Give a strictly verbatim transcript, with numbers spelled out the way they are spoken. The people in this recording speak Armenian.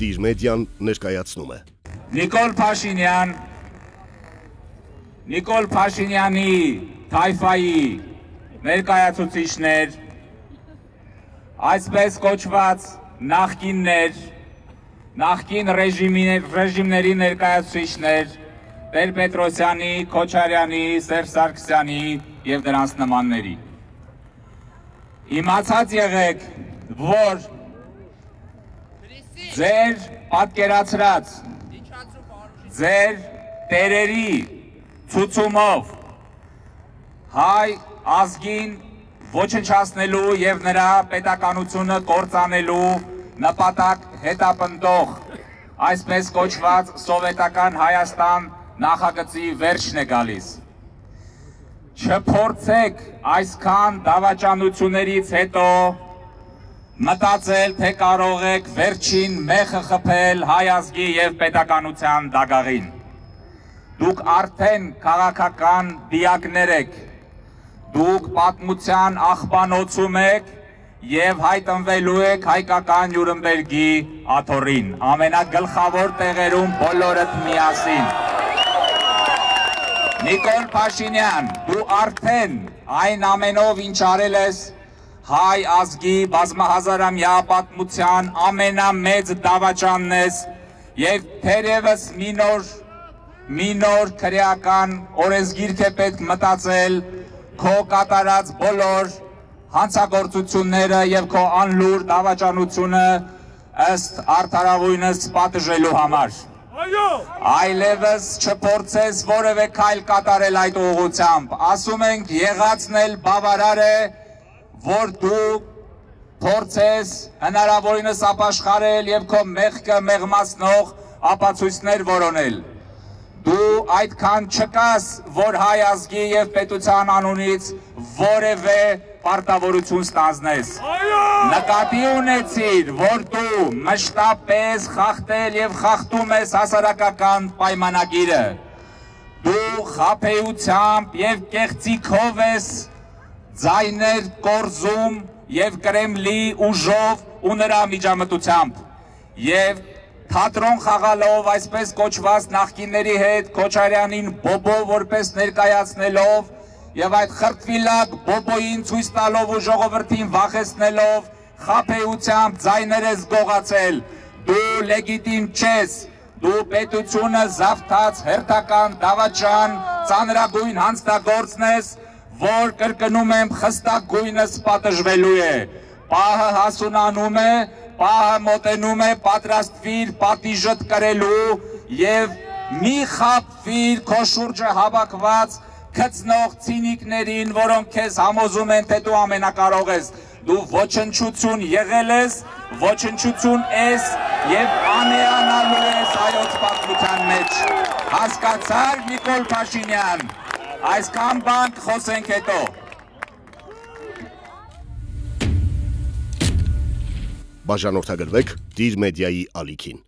Դիր մեդիան ներկայացնում է։ Նիկոլ Փաշինյան, Նիկոլ Փաշինյանի թայֆայի ներկայացուցիչներ, այսպես կոչված նախկիններ, նախկին ռեժիմների ներկայացուցիչներ, Տեր-Պետրոսյանի, Քոչարյանի, Սերժ Սարգսյանի և դրանց նմանների։ Իմացած եղեք, որ ձեր պատկերացրած, ձեր տերերի ցուցումով հայ ազգին ոչնչացնելու և նրա պետականությունը կործանելու նպատակ հետապնդող այսպես կոչված սովետական Հայաստան նախագծի վերջն է գալիս։ Չփորձեք այսքան դավաճանություններից հետո մտածել, թե կարող եք վերջին մեխը խփել հայ ազգի և պետականության դագաղին։ Դուք արդեն քաղաքական դիակներ եք, դուք պատմության աղբանոցում եք և հայտնվելու եք հայկական Նյուրնբերգի աթոռին, ամենագլխավոր տեղերում բոլորդ միասին։ Նիկոլ Փաշինյան, դու արդեն այն ամենով ինչ արել ես հայ ազգի բազմահազարամյա պատմության ամենամեծ դավաճանն ես և թերևս մի նոր, մի նոր քրեական օրենսգիրք է պետք մտածել քո կատարած բոլոր հանցագործությունները և քո անլուր դավաճանությունը ըստ արդարավույնս պատժելու համար։ Այլևս չփորձես որևէ քայլ կատարել այդ ուղղությամբ, ասում ենք եղածն էլ բավարար է, որ դու փորձես հնարավորինս ապաշխարել և քո մեղքը մեղմացնող ապացույցներ որոնել։ Դու այդքան չկաս, որ հայ ազգի և պետության անունից որևէ պարտավորություն ստանձնես։ Նկատի ունեցիր, որ դու մշտապես խախտել և խախտում ես հասարակական պայմանագիրը։ Դու խաբեությամբ և կեղծիքով ես ձայներ կորզում և Կրեմլի ուժով ու նրա միջամտությամբ և թատրոն խաղալով այսպես կոչված նախկինների հետ Քոչարյանին բոբո որպես ներկայացնելով և այդ խրտվիլակ բոբոյին ցույց տալով ու ժողովրդին վախեցնելով խաբեությամբ ձայներ ես գողացել, դու լեգիտիմ չես, դու պետությունը զավթած հերթական դավաճան ծանրագույն հանցագործն ես, որ կրկնում եմ խստագույնս պատժվելու է, պահը հասունանում է, պահը մոտենում է, պատրաստվիր պատիժդ կրելու և մի խաբվիր քո շուրջը հավաքված քծնող ցինիկներին, որոնք քեզ համոզում են, թե դու ամենակարող ես, դու ոչնչություն եղել ես, ոչնչություն ես և անեանալու ես հայոց պատմության մեջ։ Հասկացար, Նիկոլ Փաշինյան, այսքան բան խոսենք հետո։ Բաժանորդագրվեք Դիր մեդիայի ալիքին։